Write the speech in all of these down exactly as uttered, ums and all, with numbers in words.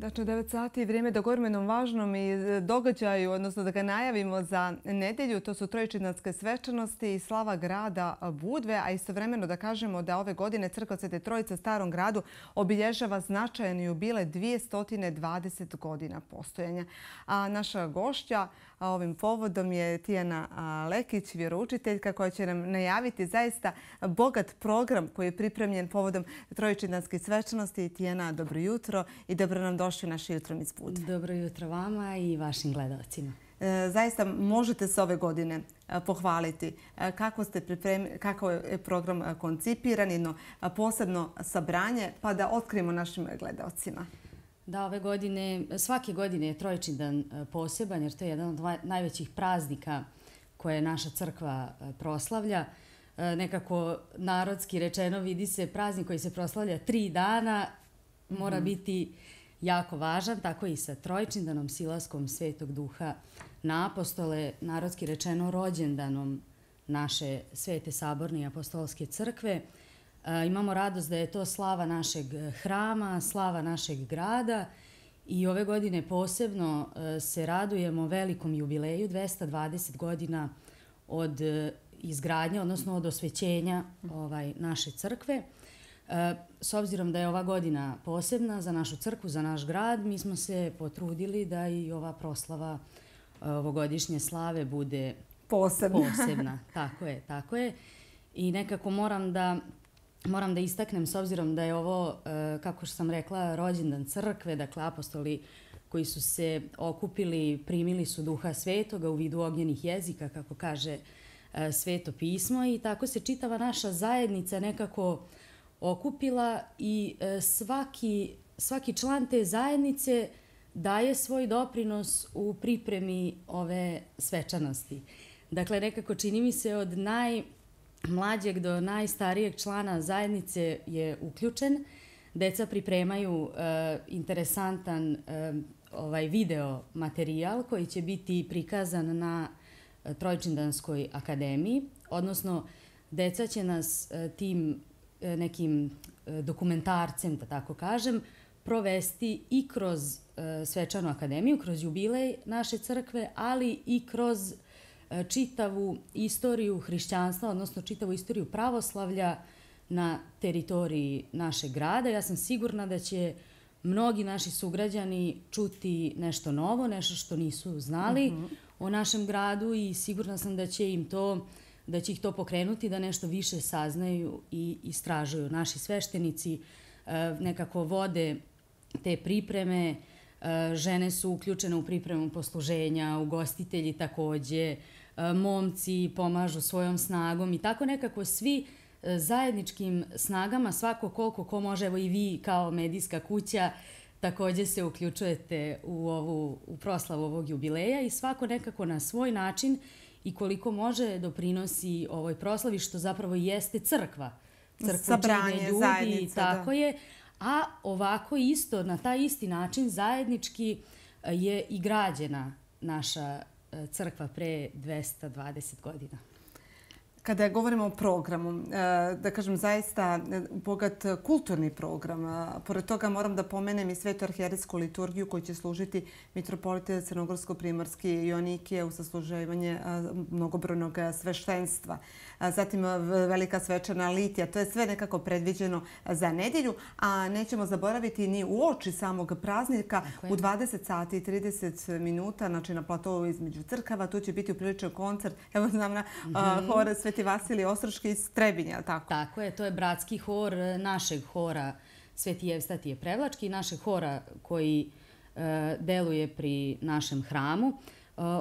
Znači, devet sati je vrijeme da govorimo jednom važnom i događaju, odnosno da ga najavimo za nedjelju. To su trojičindanske svečanosti i slava grada Budve, a istovremeno da kažemo da ove godine Crkva Svete Trojice u Starom gradu obilježava značajan jubilej dvjesto dvadeset godina postojanja. A naša gošća ovim povodom je Tijana Lekić, vjeroučiteljka, koja će nam najaviti zaista bogat program koji je pripremljen povodom trojičindanskih svečanosti. Tijana, dobro jutro i dobro nam došli u naš Jutrom iz Budve. Dobro jutro vama i vašim gledalcima. Zaista možete se ove godine pohvaliti kako ste pripremili, kako je program koncipiran, jedno posebno sabranje, pa da otkrijemo našim gledalcima. Da, ove godine, svake godine je Trojičindan poseban jer to je jedan od najvećih praznika koje naša crkva proslavlja. Nekako narodski rečeno vidi se praznik koji se proslavlja tri dana, mora biti jako važan, tako i sa Trojičindanom, silaskom Svetog Duha na apostole, narodski rečeno rođendanom naše Svete Saborne i Apostolske crkve. Imamo radost da je to slava našeg hrama, slava našeg grada i ove godine posebno se radujemo velikom jubileju, dvjesto dvadeset godina od izgradnje, odnosno od osvećenja ovaj, naše crkve. S obzirom da je ova godina posebna za našu crkvu, za naš grad, mi smo se potrudili da i ova proslava ovogodišnje slave bude posebna. posebna. Tako je, tako je. I nekako moram da, moram da istaknem, s obzirom da je ovo, kako sam rekla, rođendan crkve, dakle apostoli koji su se okupili, primili su Duha Svetoga u vidu ognjenih jezika, kako kaže Sveto pismo, i tako se čitava naša zajednica nekako okupila i svaki, svaki član te zajednice daje svoj doprinos u pripremi ove svečanosti. Dakle, nekako čini mi se od najmlađeg do najstarijeg člana zajednice je uključen. Deca pripremaju e, interesantan e, ovaj video materijal koji će biti prikazan na Trojičindanskoj akademiji, odnosno deca će nas e, tim nekim dokumentarcem, da tako kažem, provesti i kroz svečanu akademiju, kroz jubilej naše crkve, ali i kroz čitavu istoriju hrišćanstva, odnosno čitavu istoriju pravoslavlja na teritoriji našeg grada. Ja sam sigurna da će mnogi naši sugrađani čuti nešto novo, nešto što nisu znali mm-hmm. o našem gradu i sigurna sam da će im to da će ih to pokrenuti, da nešto više saznaju i istražuju. Naši sveštenici nekako vode te pripreme, žene su uključene u pripremu posluženja, ugostitelji takođe, momci pomažu svojom snagom i tako nekako svi zajedničkim snagama, svako koliko ko može, evo i vi kao medijska kuća, takođe se uključujete u, ovu, u proslavu ovog jubileja i svako nekako na svoj način i koliko može doprinosi ovoj proslavi, što zapravo jeste crkva. Crkva čine ljudi, zajednica, tako da. je. A ovako isto, na taj isti način zajednički je i građena naša crkva pre dvjesto dvadeset godina. Kada govorimo o programu, da kažem zaista bogat kulturni program. Pored toga moram da pomenem i Svetu arhijerejsku liturgiju koju će služiti mitropolite Crnogorsko-primorski Joanikije u sasluživanje mnogobrojnog sveštenstva. Zatim velika svečana litija. To je sve nekako predviđeno za nedjelju, a nećemo zaboraviti ni u oči samog praznika u dvadeset sati i trideset minuta, znači na platovu između crkava. Tu će biti upriličan koncert. Evo znam na hor Sveti Vasilij Ostroški iz Trebinja, tako? Tako je, to je bratski hor našeg hora Sveti Jevstatije Prevlački, našeg hora koji e, deluje pri našem hramu. E,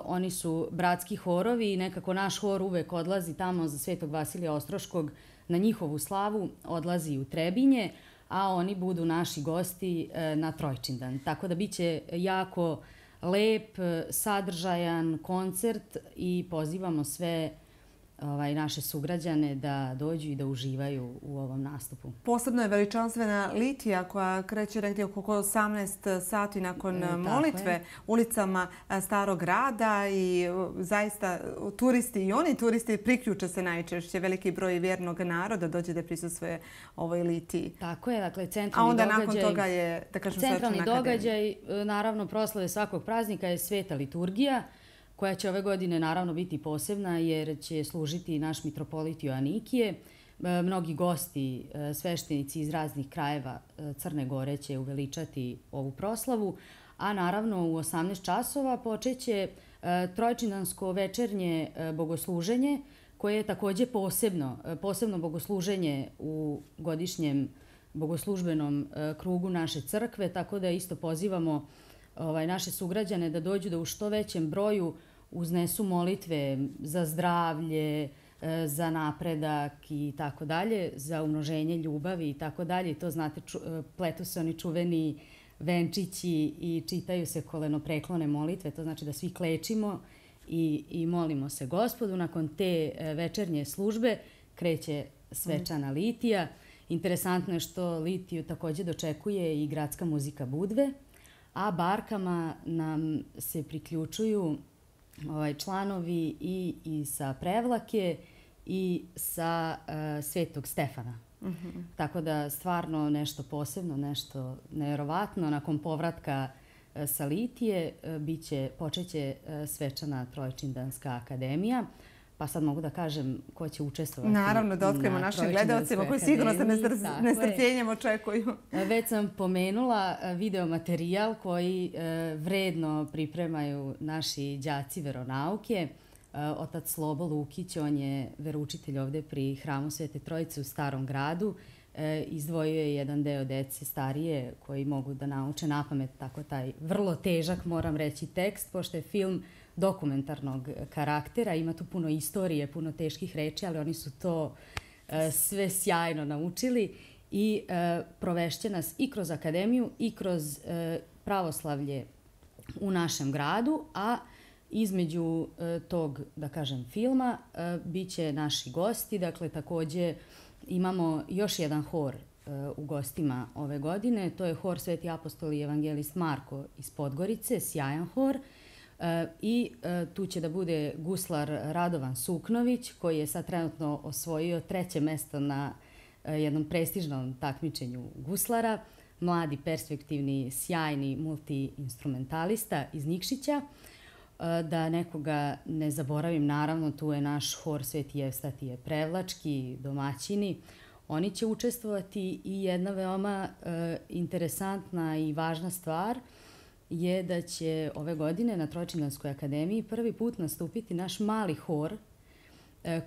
oni su bratski horovi i nekako naš hor uvek odlazi tamo za Svetog Vasilija Ostroškog na njihovu slavu, odlazi u Trebinje, a oni budu naši gosti e, na Trojičindan. Tako da bit će jako lep, sadržajan koncert i pozivamo sve ovaj, naše sugrađane da dođu i da uživaju u ovom nastupu. Posebno je veličanstvena Litija koja kreće negdje oko osamnaest sati nakon e, molitve je. ulicama Starog grada i zaista turisti i oni turisti priključe se najčešće. Veliki broj vjernog naroda dođe da prisustvuje ovoj Litiji. Tako je, dakle centralni događaj... A onda događaj, nakon toga je, da kažem, centralni događaj, naravno proslave svakog praznika je Sveta liturgija, koja će ove godine naravno biti posebna jer će služiti naš mitropolit Joanikije. Mnogi gosti, sveštenici iz raznih krajeva Crne Gore će uveličati ovu proslavu, a naravno u osamnaest časova počeće trojčindansko večernje bogosluženje koje je također posebno, posebno bogosluženje u godišnjem bogoslužbenom krugu naše crkve, tako da isto pozivamo ovaj, naše sugrađane da dođu da u što većem broju uznesu molitve za zdravlje, za napredak i tako dalje, za umnoženje ljubavi i tako dalje. I to znate, ču, pletu se oni čuveni venčići i čitaju se kolenopreklone molitve. To znači da svi klečimo i, i molimo se Gospodu. Nakon te večernje službe kreće svečana Litija. Interesantno je što Litiju također dočekuje i gradska muzika Budve, a barkama nam se priključuju ovaj, članovi i, i sa Prevlake i sa uh, Svetog Stefana. Mm-hmm. Tako da stvarno nešto posebno, nešto nevjerovatno. Nakon povratka uh, sa Litije uh, biće, počeće uh, svečana Trojčindanska akademija. Pa sad mogu da kažem ko će učestvovati. Naravno, da otkrijemo našim gledalcima koji sigurno se nestrpljenjem očekuju. Već sam pomenula video materijal koji vredno pripremaju naši đaci veronauke. Otac Slobo Lukić, on je veroučitelj ovde pri Hramu Svete Trojice u Starom gradu. Izdvojio je jedan deo dece starije koji mogu da nauče napamet tako taj vrlo težak, moram reći, tekst, pošto je film dokumentarnog karaktera. Ima tu puno istorije, puno teških reči, ali oni su to e, sve sjajno naučili i e, provešće nas i kroz akademiju i kroz e, pravoslavlje u našem gradu, a između e, tog, da kažem, filma e, bit će naši gosti. Dakle, također imamo još jedan hor e, u gostima ove godine. To je hor Sveti apostol i evangelist Marko iz Podgorice, sjajan hor. I tu će da bude guslar Radovan Suknović, koji je sad trenutno osvojio treće mesto na jednom prestižnom takmičenju guslara. Mladi, perspektivni, sjajni multi-instrumentalista iz Nikšića. Da nekoga ne zaboravim, naravno tu je naš hor Sveti Evstatije Prevlački, domaćini. Oni će učestvovati i jedna veoma interesantna i važna stvar je da će ove godine na Trojčindanskoj akademiji prvi put nastupiti naš mali hor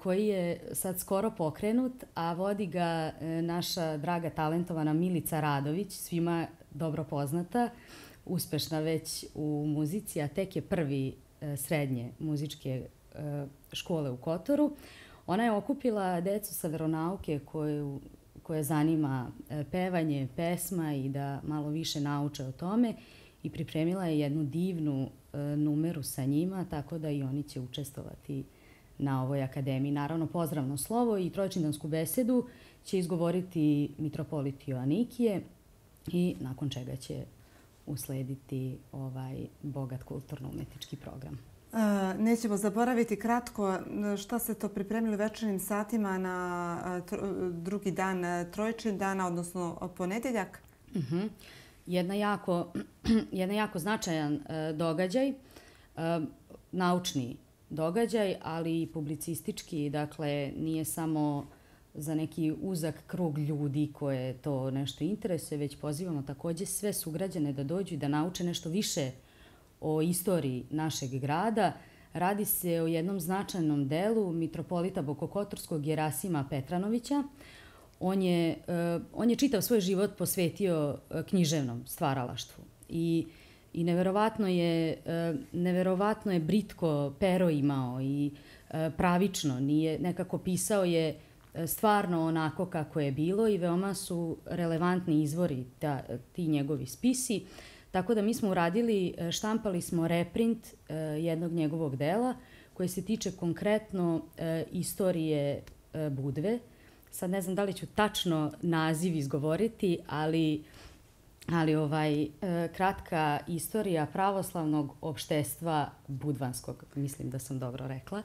koji je sad skoro pokrenut, a vodi ga naša draga talentovana Milica Radović, svima dobro poznata, uspešna već u muzici, a tek je prvi srednje muzičke škole u Kotoru. Ona je okupila decu sa veronauke koju, koje zanima pevanje, pesma i da malo više nauče o tome. I pripremila je jednu divnu e, numeru sa njima, tako da i oni će učestvovati na ovoj akademiji. Naravno, pozdravno slovo i trojčindansku besedu će izgovoriti mitropolit Joanikije i nakon čega će uslediti ovaj bogat kulturno-umetnički program. E, nećemo zaboraviti kratko šta se to pripremili večernjim satima na tro, drugi dan Trojčindana, odnosno ponedjeljak. Mhm. Jedna jako, jedan jako značajan e, događaj, e, naučni događaj, ali i publicistički. Dakle, nije samo za neki uzak krug ljudi koje to nešto interesuje, već pozivamo također sve sugrađane da dođu i da nauče nešto više o istoriji našeg grada. Radi se o jednom značajnom delu mitropolita Bokokotorskog Jerasima Petranovića. On je, uh, on je čitav svoj život posvetio uh, književnom stvaralaštvu i, i neverovatno, je, uh, neverovatno je britko pero imao i uh, pravično. Nije, nekako pisao je uh, stvarno onako kako je bilo i veoma su relevantni izvori ta, ti njegovi spisi. Tako da mi smo uradili, štampali smo reprint uh, jednog njegovog dela koje se tiče konkretno e, istorije e, Budve. Sad ne znam da li ću tačno naziv izgovoriti, ali, ali ovaj, e, kratka istorija pravoslavnog opštestva budvanskog, mislim da sam dobro rekla.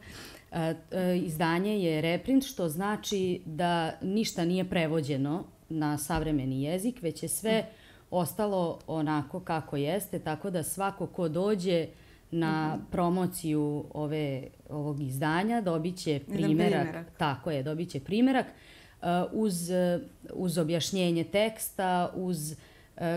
E, e, izdanje je reprint, što znači da ništa nije prevođeno na savremeni jezik, već je sve ostalo onako kako jeste, tako da svako ko dođe na promociju ove, ovog izdanja dobit će primjerak. primjerak. Tako je, dobit će primjerak uh, uz, uz objašnjenje teksta, uz, uh,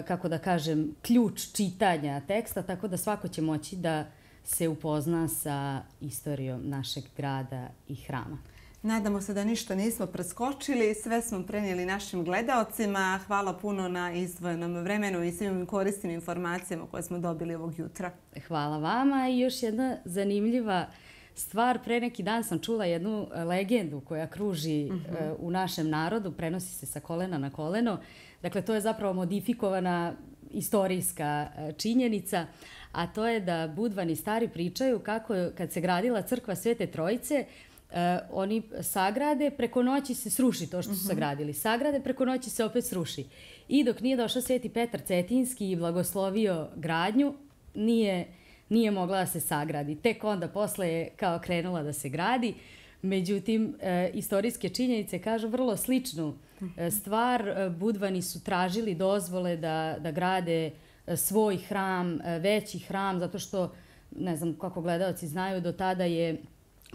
kako da kažem, ključ čitanja teksta, tako da svako će moći da se upozna sa istorijom našeg grada i hrama. Nadamo se da ništa nismo preskočili, sve smo prenijeli našim gledaocima. Hvala puno na izdvojenom vremenu i svim korisnim informacijama koje smo dobili ovog jutra. Hvala vama i još jedna zanimljiva stvar. Pre neki dan sam čula jednu legendu koja kruži uh-huh. u našem narodu, prenosi se sa kolena na koleno. Dakle, to je zapravo modifikovana istorijska činjenica, a to je da Budvani stari pričaju kako kad se gradila crkva Svete Trojice, Uh, oni sagrade, preko noći se sruši to što su sagradili. Sagrade, preko noći se opet sruši. I dok nije došao Sveti Petar Cetinski i blagoslovio gradnju, nije, nije mogla da se sagradi. Tek onda posle je kao krenula da se gradi. Međutim, e, istorijske činjenice kažu vrlo sličnu e, stvar. E, Budvani su tražili dozvole da, da grade e, svoj hram, e, veći hram, zato što, ne znam kako gledaoci znaju, do tada je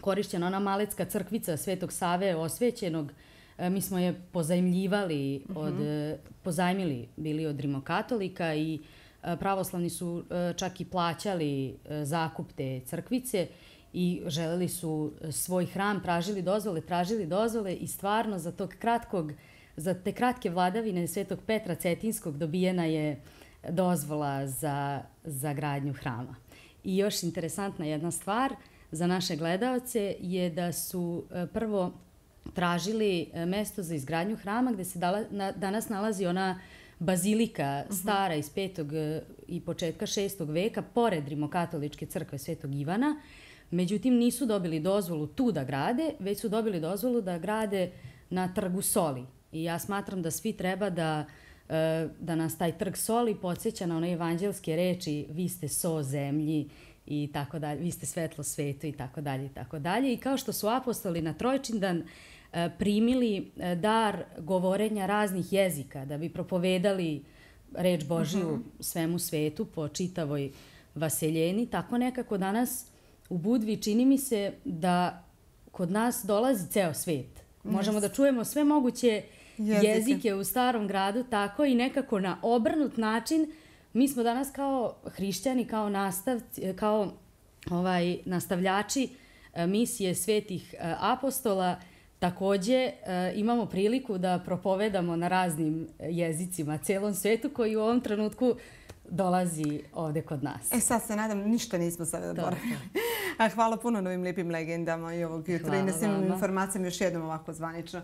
korišćena ona malecka crkvica Svetog Save osvećenog. Mi smo je pozajmljivali, od, uh-huh. pozajmili bili od rimokatolika i pravoslavni su čak i plaćali zakup te crkvice i želeli su svoj hram, tražili dozvole, tražili dozvole i stvarno za tog kratkog, za te kratke vladavine Svetog Petra Cetinskog dobijena je dozvola za, za gradnju hrama. I još interesantna jedna stvar za naše gledaoce je da su prvo tražili mesto za izgradnju hrama gde se dala, na, danas nalazi ona bazilika stara iz petog i početka šestog veka pored rimokatoličke crkve Svetog Ivana. Međutim, nisu dobili dozvolu tu da grade, već su dobili dozvolu da grade na Trgu Soli. I ja smatram da svi treba da, da nas taj Trg Soli podsjeća na one evanđelske reči vi ste so zemlji i tako dalje, vi ste svetlo svetu i tako dalje i tako dalje. I kao što su apostoli na Trojčindan primili dar govorenja raznih jezika da bi propovedali reč Božiju uh-huh. svemu svetu po čitavoj vaseljeni, tako nekako danas u Budvi čini mi se da kod nas dolazi ceo svet. Možemo yes. da čujemo sve moguće jezike. jezike u starom gradu, tako i nekako na obrnut način. Mi smo danas kao hrišćani, kao, nastavci, kao ovaj, nastavljači misije svetih apostola, takođe imamo priliku da propovedamo na raznim jezicima celom svetu koji u ovom trenutku dolazi ovde kod nas. E sad se nadam, ništa nismo sad zaboravili. Hvala puno na ovim lijepim legendama i ovog jutra i na svim informacijama još jednom ovako zvanično.